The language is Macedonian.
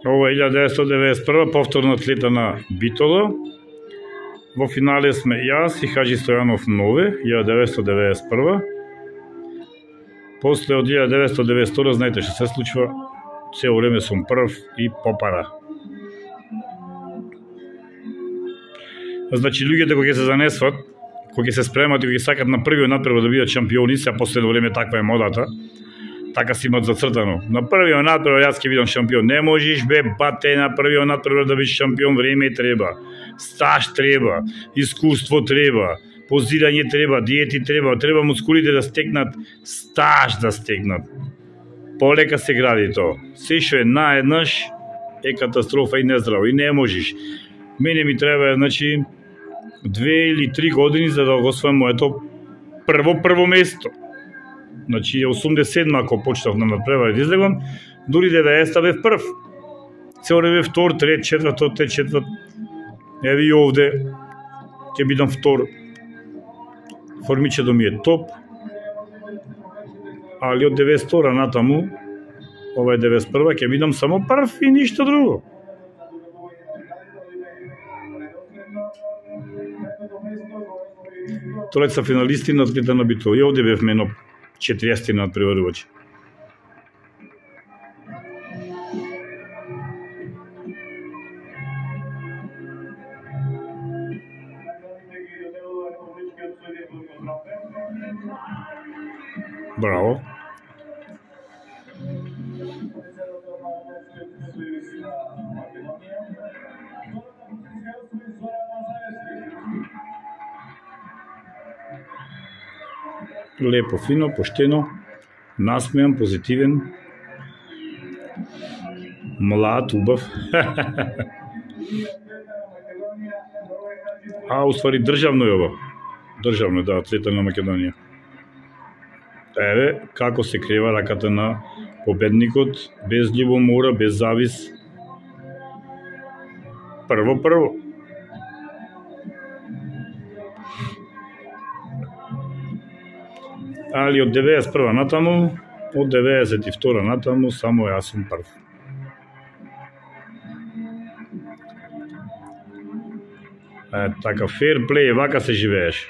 Ова е 1991, повторно атлета на Битола. Во финале сме јас и Хаджи Стојанов Нове, 1991. После од 1992, знаете што се случува, цело време сум прв и попара. Значи, луѓето кои се занесват, кои се спремат и кои сакат на првиот надпревар да бидат шампиони, се последно време таква е модата, така си имат зацртано. На првиот надпревар јас ќе бидам шампион. Не можеш, бе, бате, на првиот надпревар да бидеш шампион, време треба, стаж треба, искуство треба, позирање треба, диети треба мускулите да стекнат, стаж да стекнат. Полека се гради тоа. Се што е наеднаш е катастрофа и нездраво и не можеш. Мене ми треба, значи, 2 или 3 години за да го освојам моето прво место. Значи, 87 ако почнав на надпревар да излегам, дури 90 бев прв. Цело време втор, трет, четврт. Еви и овде ќе бидам втор. Формичето ми е топ. Али од 92 натаму, ова е 91, ќе бидам само прв и ништо друго. Тројца финалисти на атлета на Битола. И овде бевме едно 40 надпреварувачи. Браво. Лепо, фино, поштено, насмеан, позитивен, млад, убав. Уствари државно е ова. Државно е, да, атлета на Македонија. Еве, како се крева раката на победникот, без љубомора, без завис. Прво. Али од 91 натаму, од 92 натаму, само јас сум прв. Така, фер плей, вака се живееш.